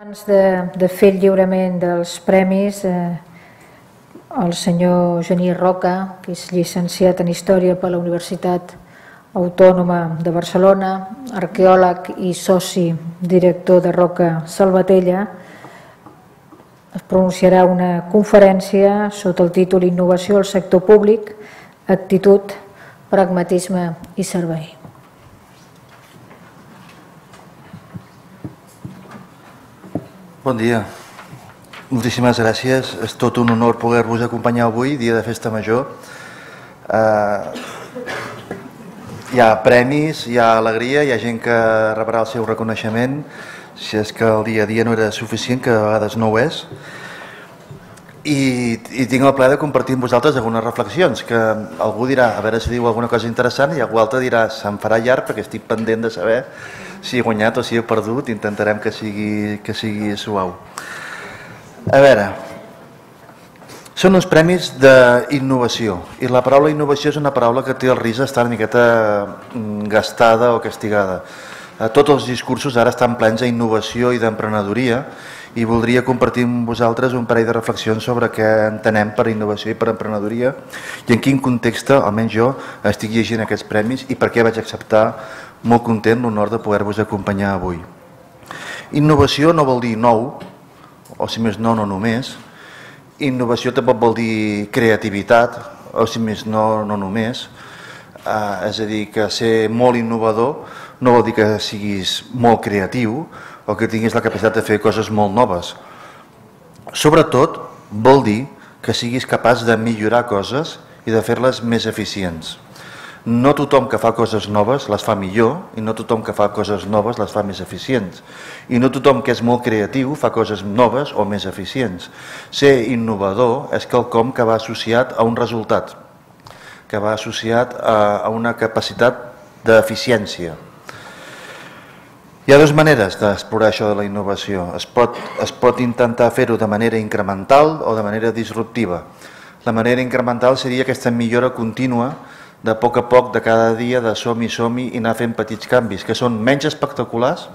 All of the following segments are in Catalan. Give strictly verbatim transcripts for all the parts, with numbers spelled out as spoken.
Abans de, de fer el lliurament dels premis, eh, el senyor Genís Roca, que és llicenciat en Història per la Universitat Autònoma de Barcelona, arqueòleg i soci director de Roca Salvatella, es pronunciarà una conferència sota el títol Innovació al sector públic, actitud, pragmatisme i servei. Bon dia. Moltíssimes gràcies. És tot un honor poder-vos acompanyar avui, dia de festa major. Hi ha premis, hi ha alegria, hi ha gent que rebrà el seu reconeixement, si és que el dia a dia no era suficient, que a vegades no ho és. I, i tinc el plaer de compartir amb vosaltres algunes reflexions, que algú dirà, a veure si diu alguna cosa interessant, i algú altre dirà, se'm farà llarg perquè estic pendent de saber si he guanyat o si he perdut, intentarem que sigui, que sigui suau. A veure, són uns premis d'innovació, i la paraula innovació és una paraula que té el risc d'estar una miqueta gastada o castigada. Tots els discursos ara estan plens d'innovació i d'emprenedoria, i voldria compartir amb vosaltres un parell de reflexions sobre què entenem per innovació i per emprenedoria i en quin context, almenys jo, estic llegint aquests premis i per què vaig acceptar molt content l'honor de poder-vos acompanyar avui. Innovació no vol dir nou, o si més no, no només. Innovació tampoc vol dir creativitat, o si més no, no només. Eh, és a dir, que ser molt innovador no vol dir que siguis molt creatiu o que tinguis la capacitat de fer coses molt noves. Sobretot vol dir que siguis capaç de millorar coses i de fer-les més eficients. No tothom que fa coses noves les fa millor i no tothom que fa coses noves les fa més eficients. I no tothom que és molt creatiu fa coses noves o més eficients. Ser innovador és quelcom que va associat a un resultat, que va associat a una capacitat d'eficiència. Hi ha dues maneres d'explorar això de la innovació. Es pot, es pot intentar fer-ho de manera incremental o de manera disruptiva. La manera incremental seria aquesta millora contínua de poc a poc, de cada dia, de som-hi, som-hi i anar fent petits canvis, que són menys espectaculars,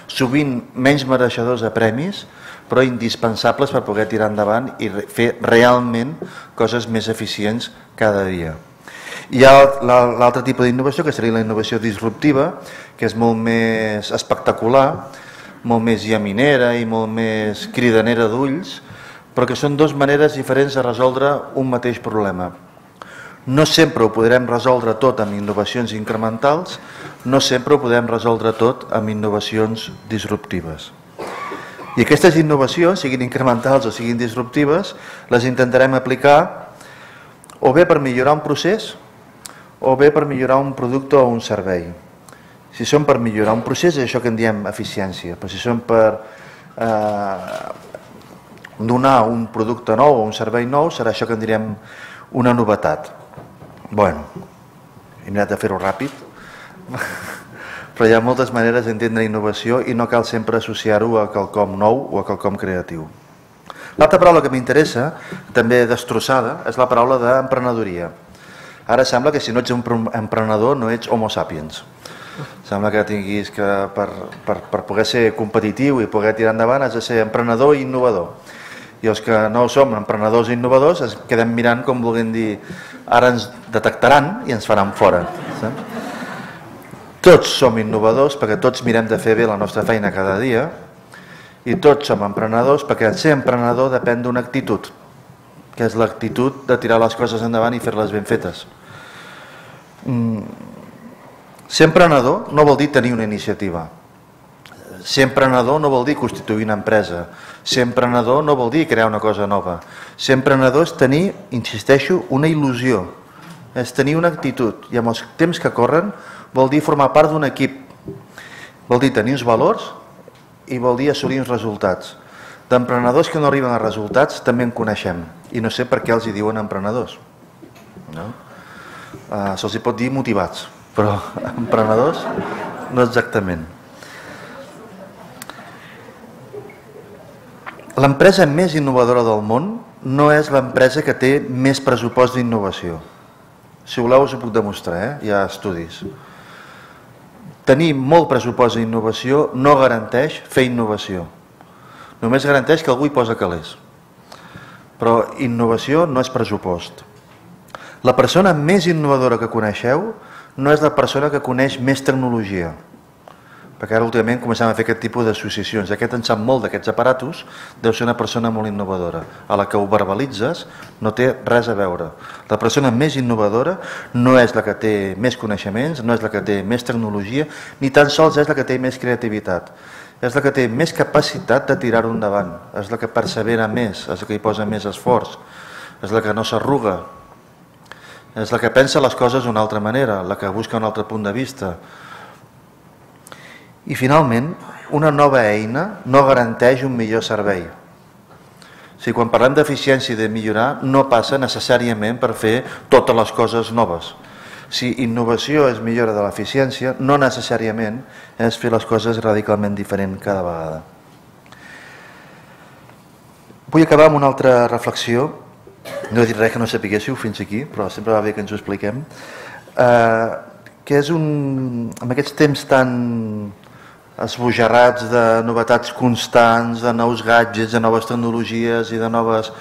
sovint menys mereixedors de premis, però indispensables per poder tirar endavant i fer realment coses més eficients cada dia. Hi ha l'altre tipus d'innovació, que seria la innovació disruptiva, que és molt més espectacular, molt més llaminera i molt més cridanera d'ulls, però que són dues maneres diferents de resoldre un mateix problema. No sempre ho podrem resoldre tot amb innovacions incrementals, no sempre ho podem resoldre tot amb innovacions disruptives. I aquestes innovacions, siguin incrementals o siguin disruptives, les intentarem aplicar o bé per millorar un procés o bé per millorar un producte o un servei. Si són per millorar un procés és això que en diem eficiència, però si són per eh, donar un producte nou o un servei nou serà això que en direm una novetat. Bueno, he mirat de fer-ho ràpid, però hi ha moltes maneres d'entendre innovació i no cal sempre associar-ho a quelcom nou o a quelcom creatiu. L'altra paraula que m'interessa, també destrossada, és la paraula d'emprenedoria. Ara sembla que si no ets un emprenedor no ets homo sapiens. Sembla que tinguis que per, per, per poder ser competitiu i poder tirar endavant has de ser emprenedor i innovador. I els que no som emprenedors i innovadors es quedem mirant com volguem dir ara ens detectaran i ens faran fora. Tots som innovadors perquè tots mirem de fer bé la nostra feina cada dia i tots som emprenedors perquè ser emprenedor depèn d'una actitud, que és l'actitud de tirar les coses endavant i fer-les ben fetes. Ser emprenedor no vol dir tenir una iniciativa. Ser emprenedor no vol dir constituir una empresa. Ser emprenedor no vol dir crear una cosa nova. Ser emprenedor és tenir, insisteixo, una il·lusió. És tenir una actitud. I amb els temps que corren vol dir formar part d'un equip. Vol dir tenir uns valors i vol dir assolir uns resultats. D'emprenedors que no arriben a resultats també en coneixem. I no sé per què els hi diuen emprenedors. No? Uh, Se'ls hi pot dir motivats, però emprenedors no exactament. L'empresa més innovadora del món no és l'empresa que té més pressupost d'innovació. Si voleu us ho puc demostrar, eh? Hi ha estudis. Tenir molt pressupost d'innovació no garanteix fer innovació. només garanteix que algú hi posa calés. Però innovació no és pressupost. La persona més innovadora que coneixeu no és la persona que coneix més tecnologia, perquè ara últimament comencem a fer aquest tipus d'associacions. Aquest en sap molt d'aquests aparatos, deu ser una persona molt innovadora. A la que ho verbalitzes no té res a veure. La persona més innovadora no és la que té més coneixements, no és la que té més tecnologia, ni tan sols és la que té més creativitat. És la que té més capacitat de tirar-ho endavant, és la que persevera més, és la que hi posa més esforç, és la que no s'arruga, és la que pensa les coses d'una altra manera, la que busca un altre punt de vista. I finalment, una nova eina no garanteix un millor servei. O sigui, quan parlem d'eficiència i de millorar, no passa necessàriament per fer totes les coses noves. Si innovació és millora de l'eficiència, no necessàriament és fer les coses radicalment diferent cada vegada. Vull acabar amb una altra reflexió. No he dit res que no sapiguéssiu fins aquí, però sempre va bé que ens ho expliquem. Eh, que és un... amb aquests temps tan esbojarrats de novetats constants, de nous gadgets, de noves tecnologies i de noves,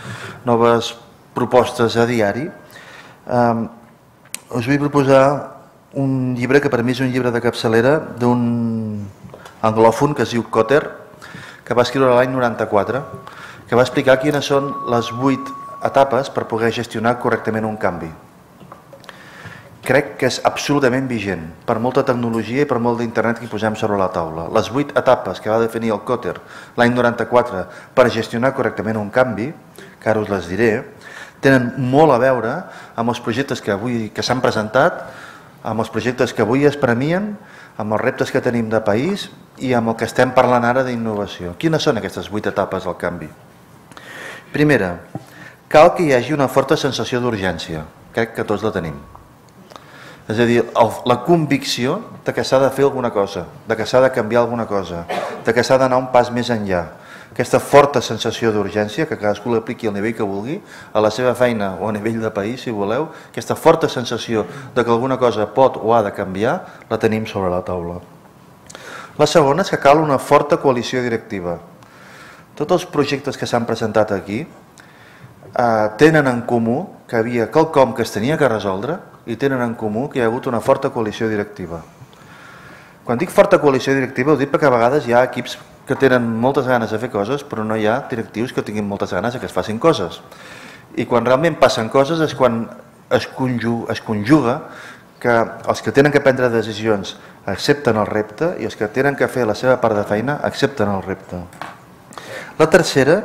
noves propostes a diari, eh, us vull proposar un llibre que per mi és un llibre de capçalera d'un anglòfon que es diu Kotter, que va escriure l'any noranta-quatre, que va explicar quines són les vuit etapes per poder gestionar correctament un canvi. Crec que és absolutament vigent per molta tecnologia i per molt d'internet que hi posem sobre la taula. Les vuit etapes que va definir el Kotter l'any noranta-quatre per gestionar correctament un canvi, que ara us les diré, tenen molt a veure amb els projectes que avui que s'han presentat, amb els projectes que avui es premien, amb els reptes que tenim de país i amb el que estem parlant ara d'innovació. Quines són aquestes vuit etapes del canvi? Primera, cal que hi hagi una forta sensació d'urgència. Crec que tots la tenim. És a dir, la convicció de que s'ha de fer alguna cosa, de que s'ha de canviar alguna cosa, de que s'ha d'anar un pas més enllà. Aquesta forta sensació d'urgència, que cadascú l'apliqui al nivell que vulgui, a la seva feina o a nivell de país, si voleu, aquesta forta sensació de que alguna cosa pot o ha de canviar, la tenim sobre la taula. La segona és que cal una forta coalició directiva. Tots els projectes que s'han presentat aquí eh, tenen en comú que hi havia quelcom que es tenia que resoldre i tenen en comú que hi ha hagut una forta coalició directiva. Quan dic forta coalició directiva ho dic perquè a vegades hi ha equips que tenen moltes ganes de fer coses però no hi ha directius que tinguin moltes ganes de que es facin coses. I quan realment passen coses és quan es conjuga, es conjuga que els que tenen que prendre decisions accepten el repte i els que tenen que fer la seva part de feina accepten el repte. La tercera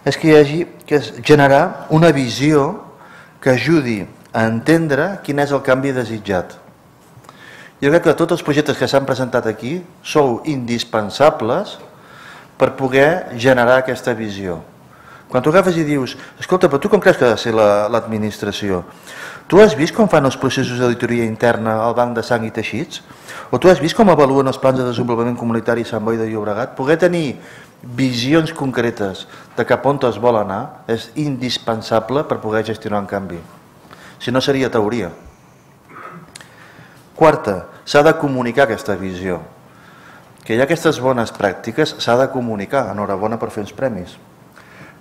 és que hi hagi que és generar una visió que ajudi a entendre quin és el canvi desitjat. Jo crec que tots els projectes que s'han presentat aquí sou indispensables per poder generar aquesta visió. Quan tu agafes i dius, escolta, però tu com creus que ha de ser l'administració? Tu has vist com fan els processos d'auditoria interna al Banc de Sang i Teixits? O tu has vist com avaluen els plans de desenvolupament comunitari a Sant Boi de Llobregat? Poder tenir visions concretes de cap on es vol anar és indispensable per poder gestionar un canvi. Si no seria teoria. Quarta, s'ha de comunicar aquesta visió. Que hi ha aquestes bones pràctiques, s'ha de comunicar. Enhorabona per fer uns premis.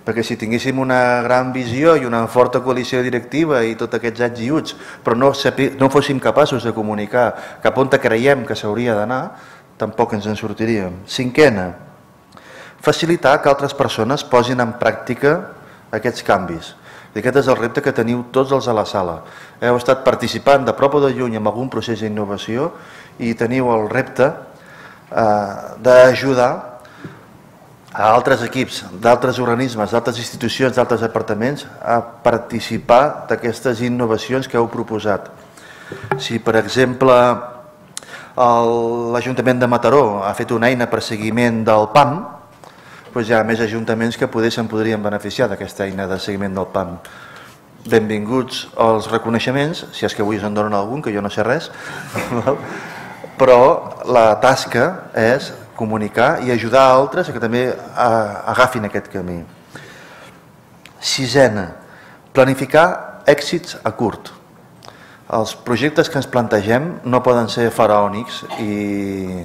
Perquè si tinguéssim una gran visió i una forta coalició directiva i tots aquests ets i uts, però no, no fóssim capaços de comunicar cap on creiem que s'hauria d'anar, tampoc ens en sortiríem. Cinquena, facilitar que altres persones posin en pràctica aquests canvis. I aquest és el repte que teniu tots els a la sala. Heu estat participant de prop o de lluny en algun procés d'innovació i teniu el repte eh, d'ajudar a altres equips, d'altres organismes, d'altres institucions, d'altres departaments a participar d'aquestes innovacions que heu proposat. Si, per exemple, l'Ajuntament de Mataró ha fet una eina per seguiment del P A M, doncs hi ha més ajuntaments que poder se'n podrien beneficiar d'aquesta eina de seguiment del P A M. Benvinguts als reconeixements, si és que avui us en donen algun, que jo no sé res, però la tasca és comunicar i ajudar a altres que també agafin aquest camí. Sisena, planificar èxits a curt. Els projectes que ens plantegem no poden ser faraònics i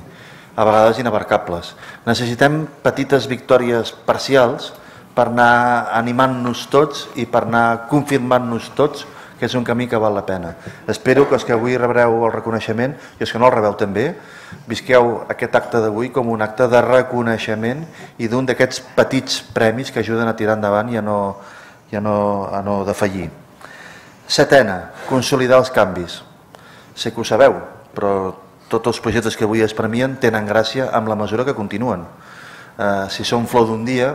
a vegades inabarcables. Necessitem petites victòries parcials per anar animant-nos tots i per anar confirmant-nos tots que és un camí que val la pena. Espero que els que avui rebreu el reconeixement i els que no el rebeu també, visqueu aquest acte d'avui com un acte de reconeixement i d'un d'aquests petits premis que ajuden a tirar endavant i a no, i a no, a no defallir. Setena, consolidar els canvis. Sé que ho sabeu, però tots els projectes que avui es premien tenen gràcia amb la mesura que continuen. Eh, si són flor d'un dia,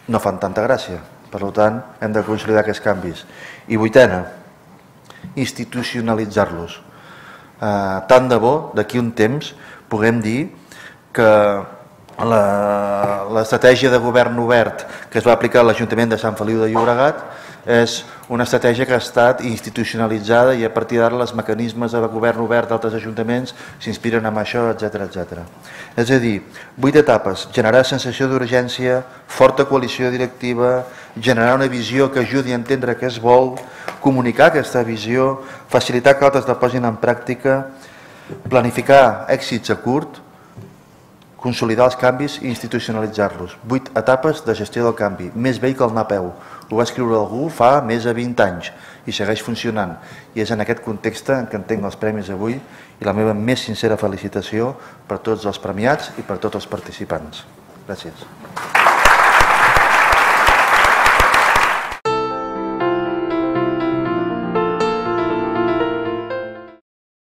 no fan tanta gràcia. Per tant, hem de consolidar aquests canvis. I vuitena, institucionalitzar-los. Eh, tant de bo, d'aquí un temps, puguem dir que l'estratègia de govern obert que es va aplicar a l'Ajuntament de Sant Feliu de Llobregat és una estratègia que ha estat institucionalitzada i a partir d'ara els mecanismes de govern obert d'altres ajuntaments s'inspiren en això, etcètera, etcètera. És a dir, vuit etapes: generar sensació d'urgència, forta coalició directiva, generar una visió que ajudi a entendre què es vol, comunicar aquesta visió, facilitar que altres la posin en pràctica, planificar èxits a curt, consolidar els canvis i institucionalitzar-los. Vuit etapes de gestió del canvi, més vell que el anar a peu. Ho va escriure algú fa més de vint anys i segueix funcionant. I és en aquest context en què entenc els premis avui i la meva més sincera felicitació per tots els premiats i per tots els participants. Gràcies.